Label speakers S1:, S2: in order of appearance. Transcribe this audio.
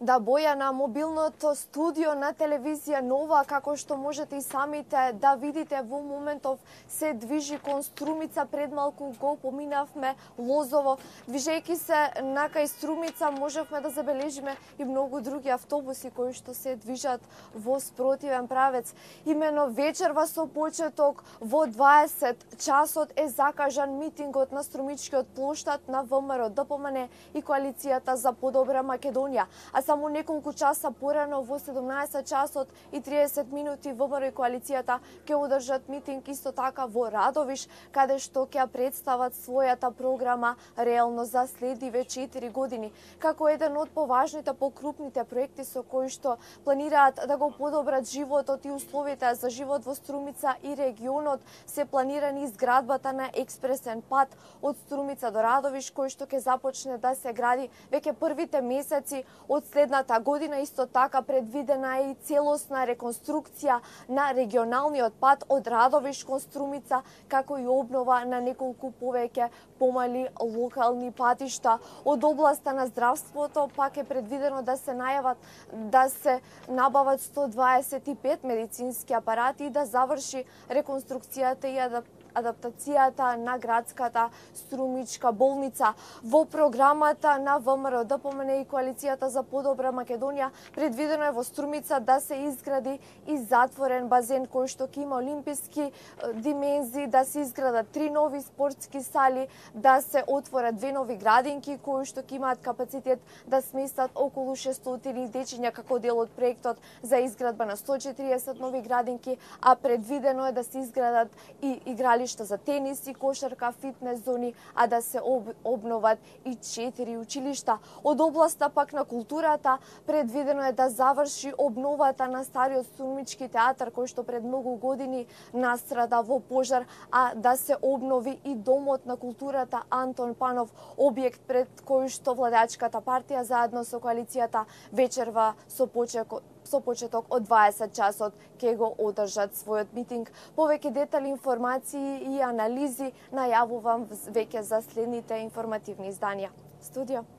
S1: Да, Боја, на мобилното студио на телевизија Нова, како што можете и самите да видите, во моментов се движи кон Струмица. Пред малку го поминавме Лозово. Движејќи се накај Струмица можевме да забележиме и многу други автобуси кои што се движат во спротивен правец. Имено вечерва со почеток во 20 часот е закажан митингот на Струмичкиот плоштад на ВМРО ДПМН и Коалицијата за подобра Македонија. А само неколку часа порано во 17 часот и 30 минути ВМРО и Коалицијата ќе одржат митинг исто така во Радовиш, каде што ќе представат својата програма реално за следиве 4 години. Како еден од поважните, покрупните проекти со кои што планираат да го подобрат животот и условите за живот во Струмица и регионот, се планирани изградбата на експресен пат од Струмица до Радовиш, кој што ќе започне да се гради веќе првите месеци од следната година. Исто така предвидена е и целосна реконструкција на регионалниот пат од Радовиш кон Струмица, како и обнова на неколку повеќе помали локални патишта. Од областа на здравството пак е предвидено да се набават 125 медицински апарати и да заврши реконструкцијата и адаптацијата на градската Струмичка болница. Во програмата на ВМРО ДПМН и Коалицијата за подобра Македонија предвидено е во Струмица да се изгради и затворен базен кој што ќе има олимписки димензии, да се изградат 3 нови спортски сали, да се отворат 2 нови градинки кои што ќе имаат капацитет да сместат околу 600 дечиња како дел од проектот за изградба на 140 нови градинки, а предвидено е да се изградат и игралишта за тенис и кошарка, фитнес зони, а да се обноват и 4 училишта. Од областа пак на културата предвидено е да заврши обновата на стариот Струмички театар кој што пред многу години настрада во пожар, а да се обнови и домот на културата Антон Панов, објект пред кој што владачката партија заедно со коалицијата вечерва со почеток од 20 часот ќе го одржат својот митинг. Повеќе детали, информации и анализи најавувам веќе за следните информативни изданија. Студио.